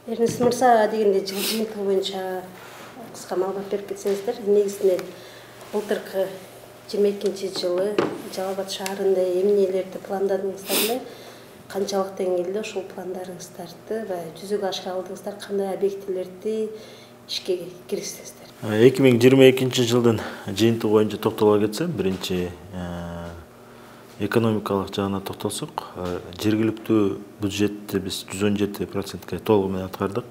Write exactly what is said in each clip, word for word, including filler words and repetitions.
Эрнест мырза дегенде жыл жыйынтыгы боюнча кыска маалымат берип кетсеңиздер. Негизинен былтыркы жыйырма экинчи жылы Жалал Абад шаарында эмнелерди пландадыңыздар эле? Канчалык деңгээлде ушул пландарыңыздарды баягы жүзөгө ашыра алдыңыздар? Кандай объектилерди ишке киргиздиңиздер? эки миң жыйырма экинчи жылдын жыйынтыгы боюнча токтоло кетсем, биринчи экономикалык жагына токтолсок, жергиликтүү бюджетти биз жүз он жети процентке толугу менен аткардык.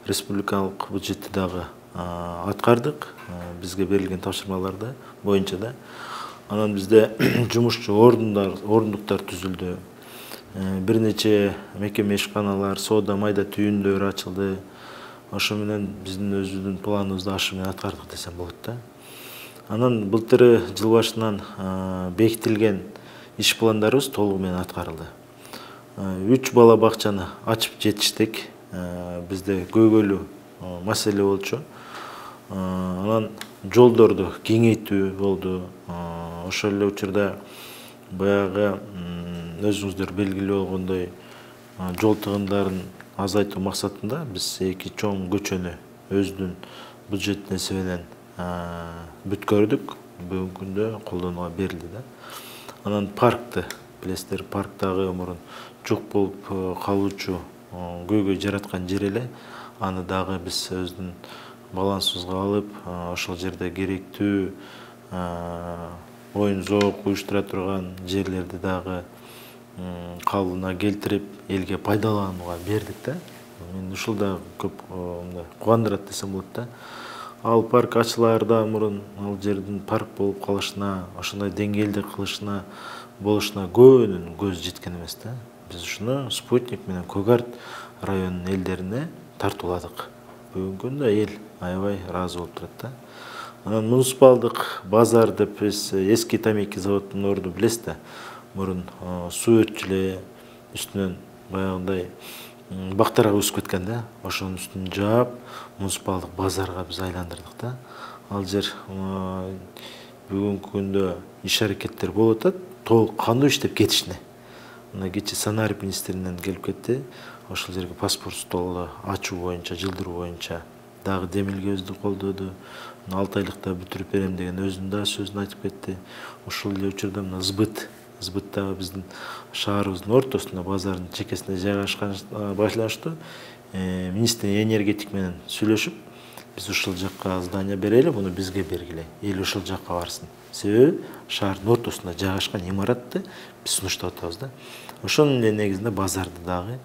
Республикалык бюджетти дагы аткардык. Бизге берилген тапшырмаларды боюнча да. Анан бизде жумушчу орундар, орундуктар түзүлдү. Бир нече мекеме ишканалар, соода майда түйүндөр ачылды. Ошо менен биздин өзүбүздүн планыбызды ашы менен аткардык десем болот да. Анан былтыры жыл башынан бекитилген иш пландарыбыз толугу менен аткарылды. Үч бала бакчаны ачып жетиштик. Бизде көйгөйлүү маселе болчу. Анан жолдорду кеңейтүү болду. Ошол эле учурда баягы өзүңүздөр белгилүү болгондой жол тыгындарын азайтуу максатында биз эки чоң көчөнү өзүнүн бюджет несебинен бүткөрдүк. Бүгүнкү күндө колдонууга берилди да. Анан паркты билесиздер, парктагы мурун жок болуп калуучу көйгөй жараткан жер эле. Аны дагы биз өзүнүн балансыбызга алып, ошол жерде керектүү оюн зоок уюштура турган жерлерди дагы калыбына келтирип, элге пайдаланууга бердик да. Мен ушул да көп кубандырат десем болот да. Ал парк ачылаарда мурун ал жердин парк болуп калышына, ошондой деңгээлде кылышына, болушуна көбүнүн көзү жеткен эмес да. Биз ушуну Спутник менен Көк Арт районунун элдерине тартууладык. Бүгүнкү күндө эл аябай ыраазы болуп турат да. Анан муниципалдык базар деп биз эски тамеки заводунун орду билесиз да. Мурун суу өтчү эле, үстүнөн баягындай бактарга өсүп кеткен да. Ошонун үстүн жаап, муниципалдык базарга биз айландырдык да. Ал жер бүгүнкү күндө иш аракеттер болуп атат, толук кандуу иштеп кетишине. Мына кечээ Санарип министринен келип кетти. Ошол жерге паспорт столу ачуу боюнча, жылдыруу боюнча дагы демилгебизди колдоду. алты айлыкта бүтүрүп берем деген өзүнүн да сөзүн айтып кетти. Ошол эле учурда мына Сбыт, Сбыттагы биздин шаарыбыздын ортосунда, базардын чекесинде жайгашкан башланыштуу министр энергетик менен сүйлөшүп, биз ушул жакка здание берели, муну бизге бергиле. Эл ошол жакка барсын. Себеби шаардын ортосунда жайгашкан имаратты биз сунуштап атабыз да. Ошонун эле негизинде базарды дагы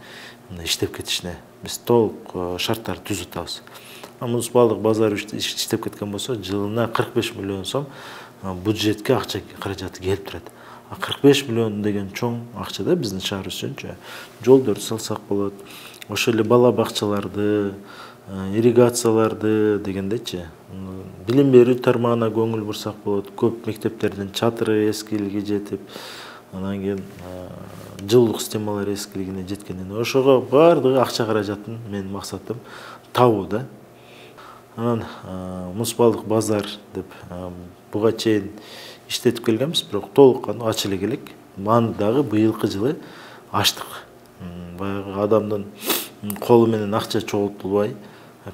иштеп кетишине биз толук шарттарды түзүп атабыз. Муниципалдык базар иштеп кеткен болсо, жылына кырк беш миллион сом бюджетке акча каражаты келип турат. А кырк беш миллион деген чоң акча да биздин шаарыбыз үчүнчү. Жолдорду салсак болот. Ошол эле бала бакчаларды, ирригацияларды дегендейчи. Билим берүү тармагына көңүл бурсак болот. Көп мектептердин чатыры эскилиги жетип, анан кийин жылуулук системалары эскилигине жеткенден ошого баардыгы акча каражатын менин максатым табуу да. Анан муниципалдык базар деп буга чейин иштетип келгенбиз, бирок толук кандуу ача эле келек. Аны дагы быйылкы жылы ачтык. Баягы адамдын колу менен акча чогултулбай,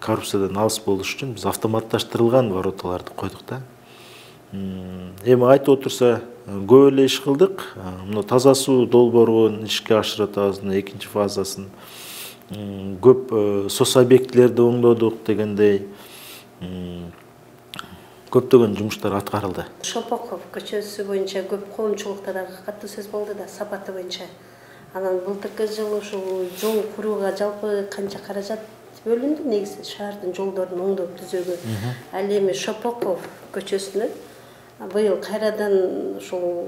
коррупциядан алыс болуш үчүн биз автоматташтырылган вороталарды койдук да. Эми айтып отурса, көп эле иш кылдык. Мына таза суу долбоорун ишке ашырып атабыз, экинчи фазасын. Көп сос объектилерди оңдодук дегендей. Көптөгөн жумуштар аткарылды. Шопоков көчөсү боюнча көп коомчулукта дагы катуу сөз болду да, сапаты боюнча. Анан былтыркы жылы ушул жол курууга жалпы канча каражат бөлүндү? Негизи шаардын жолдорун оңдоп түзүүгө. Ал эми Шопоков көчөсүнө быйыл кайрадан ушул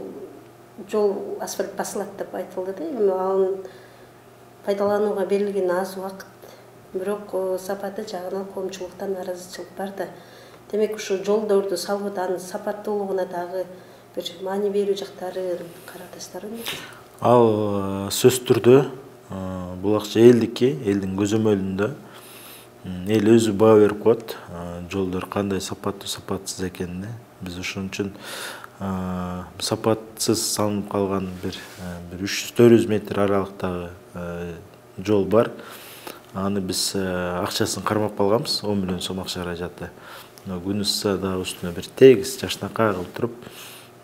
жол асфальт басылат деп айтылды да. Эми анын пайдаланууга берилген аз убакыт, бирок сапаты жагынан коомчулуктан нааразычылык бар да. Демек ушу жолдорду салууда анын сапаттуулугуна дагы бир маани берүү жактары карадыңыздарбы? Ал сөз түрдө бул акча элдики, элдин көзөмөлүндө. Эл өзү баа берип коет, жолдор кандай сапаттуу, сапатсыз экенине. Биз ошон үчүн сапатсыз салынып калган бир үч жүз төрт жүз метр аралыктагы жол бар. аны биз акчасын кармап алганбыз, он миллион сом акча каражаты. Күнү ысса дагы үстүнө бир тегиз жашнакай кылып туруп,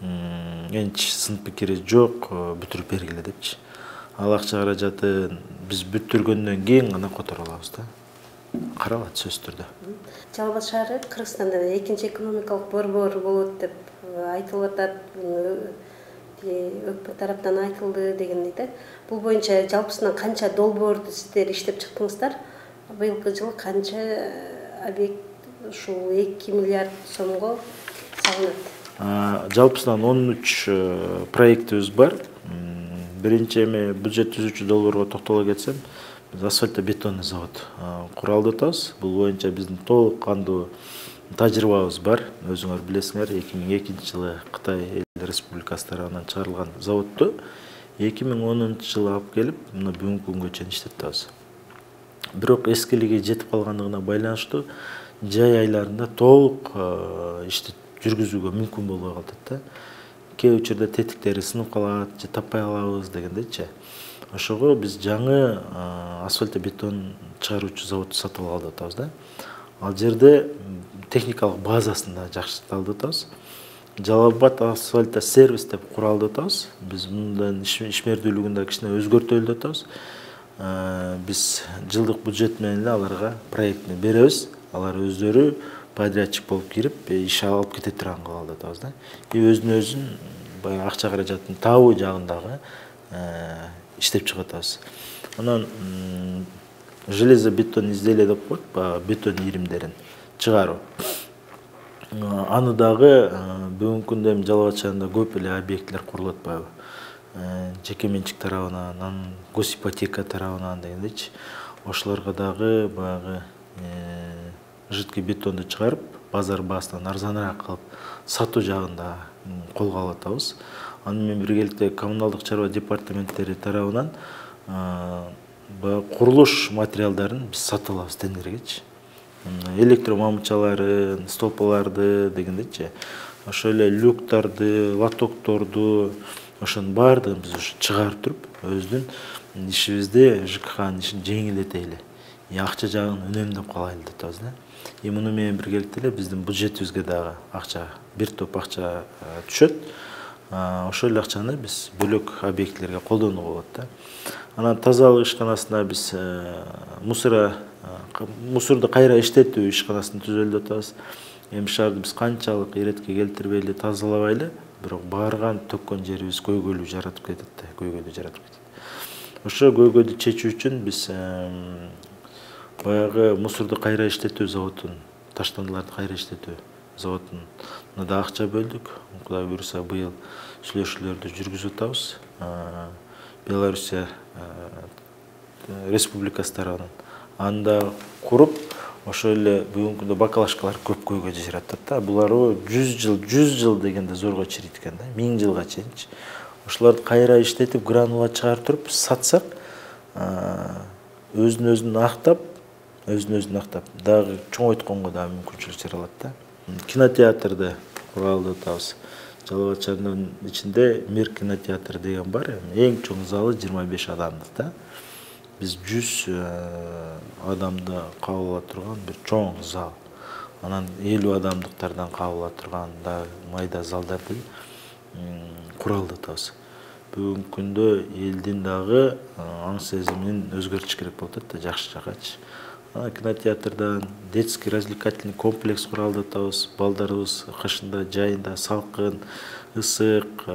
энч сын пикири жок, бүтүрүп бергиле депчи. Ал акча каражатын биз бүтүргөндөн кийин гана которо алабыз да. Каралат сөзсүз түрдө. Жалал Абад шаары Кыргызстанда экинчи экономикалык борбор болот деп айтылып атат. Өкмөт тараптан айтылды дегендей да. Бул боюнча жалпысынан канча долбоорду сиздер иштеп чыктыңыздар? Быйылкы жылы канча объект ушул эки миллиард сомго салынат? Жалпысынан он үч проектибиз бар. Биринчи эми бюджет түзүүчү долбоорго токтоло кетсем, биз асфальтобетонный завод куралды атабыз. Бул боюнча биздин толук кандуу тажрыйбабыз бар. Өзүңөр билесиңер, эки миң экинчи жылы Кытай Эл Республикасы тарабынан чыгарылган заводду эки миң онунчу жылы алып келип, мына бүгүнкү күнгө чейин иштетип атабыз. Бирок эскилиги жетип калгандыгына байланыштуу жай айларында толук ишти жүргүзүүгө мүмкүн болбой калат да. Кээ учурда тетиктери сынып калат, же таппай калабыз дегендейчи. Ошого биз жаңы асфальтобетон чыгаруучу заводду сатып алып атабыз да. Ал жерде техникалык базасын да жакшыртып атабыз. Жалал Абад асфальто сервис деп куралды атабыз. Биз мындан ишмердүүлүгүн да кичине өзгөртөлү атабыз. Биз жылдык бюджет менен эле аларга проектни беребиз. Алар өздөрү подрядчик болуп кирип, иш алып кете турган кылып атабыз да. И өзүнө өзүн баягы акча каражатын табуу жагындагы иштеп чыгып атабыз. Анан железобетон изделие деп коет, баягы бетон иримдерин чыгаруу. Аны дагы бүгүнкү күндө эми Жалал Абад шаарында көп эле объектлер курулуп атпайбы? Жеке менчик тарабынан, анан госипотека тарабынан дегендейчи. Ошолорго дагы баягы жидкий бетонду чыгарып, базар баасынан арзаныраак кылып сатуу жагында колго алып атабыз. Аны менен биргеликте коммуналдык чарба департаменттери тарабынан курулуш материалдарын биз сатып алабыз тендергечи. Электромамычаларын, столпаларды дегендейчи. Ошо эле люктарды, лотокторду, ошонун баардыгын биз ушу чыгарып туруп, өздүн ишибизди, ЖКХнын ишин жеңилдетели. Акча жагын үнөмдөп калайлы деп атабыз да. И муну менен биргеликте эле биздин бюджетибизге дагы акча, бир топ акча түшөт. Ошол эле акчаны биз бөлөк объектлерге колдонууга болот да. Анан тазалык ишканасына биз мусора мусорду кайра иштетүү ишканасын түзөлү деп атабыз. Эми шаарды биз канчалык иретке келтирбейли, тазалабайлы, бирок барган төккөн жерибиз көйгөйлүү жаратып кетет да, көйгөйдү жаратып кетет. Ошо көйгөйдү чечүү үчүн биз баягы мусорду кайра иштетүү заводун, таштандыларды кайра иштетүү заводуна да акча бөлдүк. Кудай буйруса быйыл сүйлөшүүлөрдү жүргүзүп атабыз. Белоруссия Республикасы тарабынан. Анда куруп, ошо эле бүгүнкү күндө бакалашкалар көп көйгөйдү жаратат да. Булар жүз жыл, жүз жыл дегенде зорго чирийт экен да, миң жылга чейинчи. Ошолорду кайра иштетип, гранула чыгарып туруп сатсак, өзүн өзүн актап, өзүн өзүн актап, дагы чоңойтконго да мүмкүнчүлүк жаралат да. Кинотеатрды куралды атабыз. Жалал Абад шаарынын ичинде Мир кинотеатры деген бар. Эң чоң залы жыйырма беш адамдык да. Биз жүз адамды кабыл ала турган бир чоң зал. Анан элүү адамдыктардан кабыл ала турган да майда залдарды куралды атабыз. Бүгүнкү күндө элдин дагы аң сезимин өзгөртүш керек болуп атат да, жакшы жакачы. Кинотеатрдан детский развлекательный комплекс куралды атабыз. Балдарыбыз кышында, жайында салкын, ысык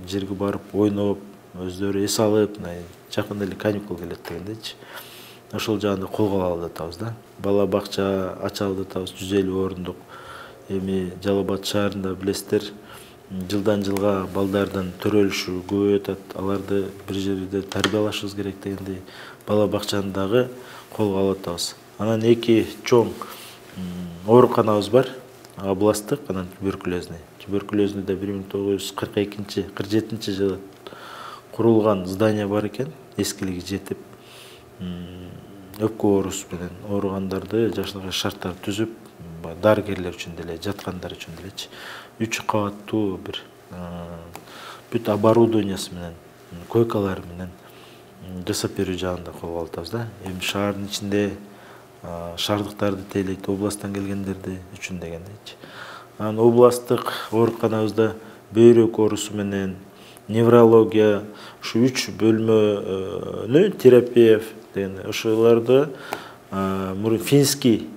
жерге барып ойноп, өздөрү эс алып, жакында эле каникул келет дегендейчи. Ошол жагында колго алалы атабыз да. Бала бакча ачалы атабыз, жүз элүү орундук. Эми Жалал Абад шаарында билесиздер, жылдан жылга балдардын төрөлүшү көбөйүп атат. Аларды бир жерде тарбиялашыбыз керек дегендей бала бакчаны дагы колго алып атабыз. Анан эки чоң ооруканабыз бар, областтык, анан туберкулезный. Туберкулезный да бир миң тогуз жүз кырк экинчи кырк жетинчи жылы курулган здание бар экен, эскилиги жетип, өпкө оорусу менен ооругандарды жакшынакай шарттар түзүп, дарыгерлер үчүн деле, жаткандар үчүн делечи, үч кабаттуу бир бүт оборудованиясы менен, койкалары менен жасап берүү жагында колго алып атабыз да. Эми шаардын ичинде шаардыктарды тейлейт, областтан келгендерди үчүн дегендейчи. Анан областтык ооруканабызда бөйрөк оорусу менен неврология ушу үч бөлмөнү терапевт деген ошолорду мурун финский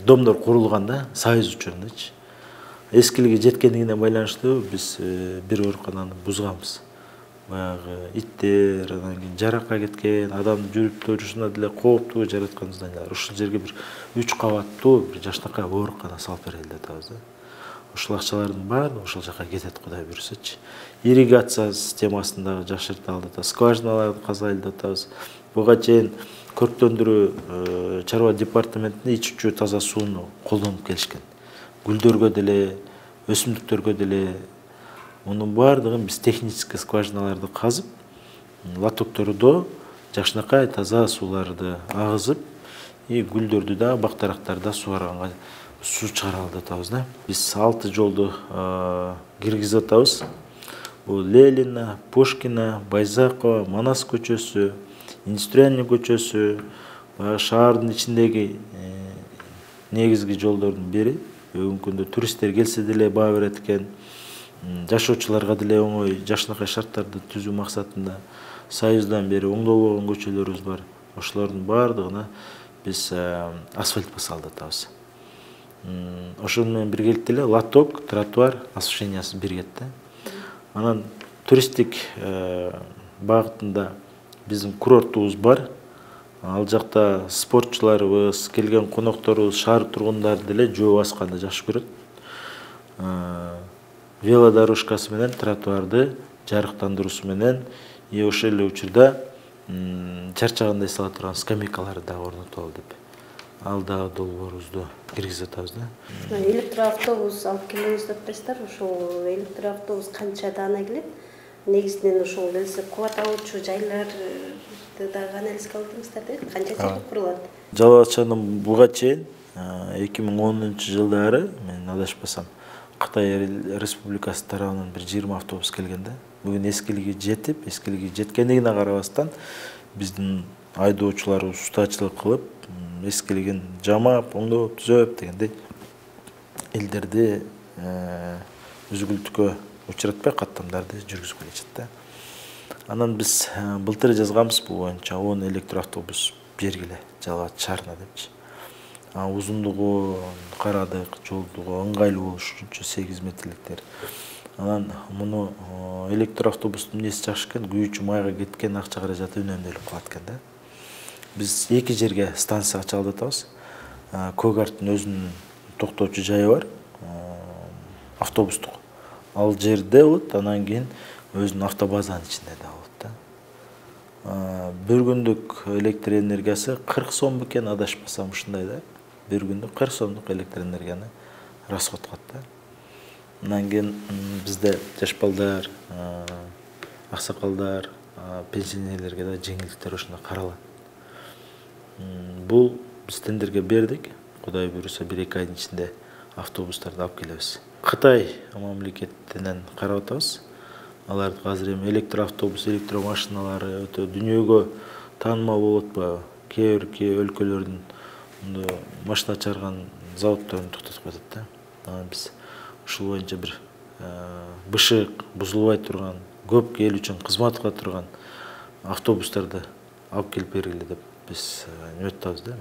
домдор курулган да, союз учурунчу. Эскилиги жеткендигине байланыштуу биз бир оорукананы бузганбыз. Баягы иттер, анан кийин жаракка кеткен, адамдын жүрүп турушуна деле кооптуу жараткан зданиялар. Ушул жерге бир үч кабаттуу бир жакшынакай оорукана салып берели деп атабыз да. Ушул акчалардын баары ошол жака кетет, Кудай буйрсачы. Ирригация системасын дагы жакшырталы деп атабыз, скважиналарды казайлы деп атабыз. Буга чейин көрктөндүрүү чарба департаментинде ичүүчү таза сууну колдонуп келишкен. Гүлдөргө деле, өсүмдүктөргө деле. Мунун баардыгын биз технический скважиналарды казып, лотоктордо жакшынакай таза сууларды агызып, и гүлдөрдү да, бактарактарды да сууганга суу чыгаралы деп атабыз да. Биз алты жолду киргизип атабыз. Бул Ленина, Пушкина, Байзакова, Манас көчөсү, Индустриальный көчөсү, шаардын ичиндеги негизги жолдордун бири. Бүгүнкү күндө туристтер келсе деле баа берет экен. Жашоочуларга деле оңой жакшынакай шарттарды түзүү максатында союздан бери оңдолбогон көчөлөрүбүз бар. Ошолордун баардыгына биз асфальт басалы деп атабыз. Ошону менен биргеликте эле лоток, тротуар освещениясы биригет да. Анан туристтик багытында биздин курортубуз бар. Ал жакта спортчуларыбыз, келген конокторубуз, шаар тургундары деле жөө басканды жакшы көрөт. Велодорожкасы менен тротуарды жарыктандыруусу менен и ошол эле учурда чарчагандай сала турган скамейкаларды дагы орнотолу деп. Ал дагы долбоорубузду киргизип атабыз да. Электроавтобус алып келебиз деп атасыздар. Ошол электроавтобус канча даана келет? Негизинен ошол элсе кубат алуучу жайларды дагы анализге алдыңыздар да? Канча жерде курулат? Жалал Абадчанын буга чейин эки миң онунчу жылдары, мен адашпасам, Кытай Республикасы тарабынан бир жыйырма автобус келген да. Бүгүн эскилиги жетип, эскилиги жеткендигине карабастан биздин айдоочуларыбыз устачылык кылып, эскилигин жамап, оңдоп, түзөп дегендей элдерди үзгүлтүккө учуратпай каттамдарды жүргүзүп келишет да. Анан биз былтыр жазганбыз бул боюнча он электроавтобус бергиле Жалал Абад шаарына депчи. Узундугу карадык, жолдугу ыңгайлуу болуш үчүнчү сегиз метрликтер. Анан муну электроавтобустун эмнеси жакшы экен, күйүүчү майга кеткен акча каражаты үнөмдөлүп калат экен да. Биз эки жерге станция ачалы деп атабыз. Көгарттын өзүнүн токтоочу жайы бар, автобустук. Ал жерде болот, анан кийин өзүнүн автобазанын ичинде да болот да. Бир күндүк электр энергиясы кырк сом бекен, адашпасам ушундай да. Бир күндүк кырк сомдук электр энергияны расход кылат да. Андан кийин бизде жаш балдар, аксакалдар, пенсионерлерге да жеңилдиктер ошондой каралат. Бул биз тендерге бердик. Кудай буйруса бир эки айдын ичинде автобустарды алып келебиз. Кытай мамлекетинен карап атабыз. Алар азыр эми электроавтобус, электромашиналары өтө дүйнөгө таанымал болуп атпайбы? Кээ бир өлкөлөрдүн машина чыгарган заводдорун токтотуп атат да. Анан биз ушул боюнча бир бышык, бузулбай турган, көп эл үчүн кызмат кыла турган автобустарды алып келип бергиле деп биз үмүттөнүбүз да.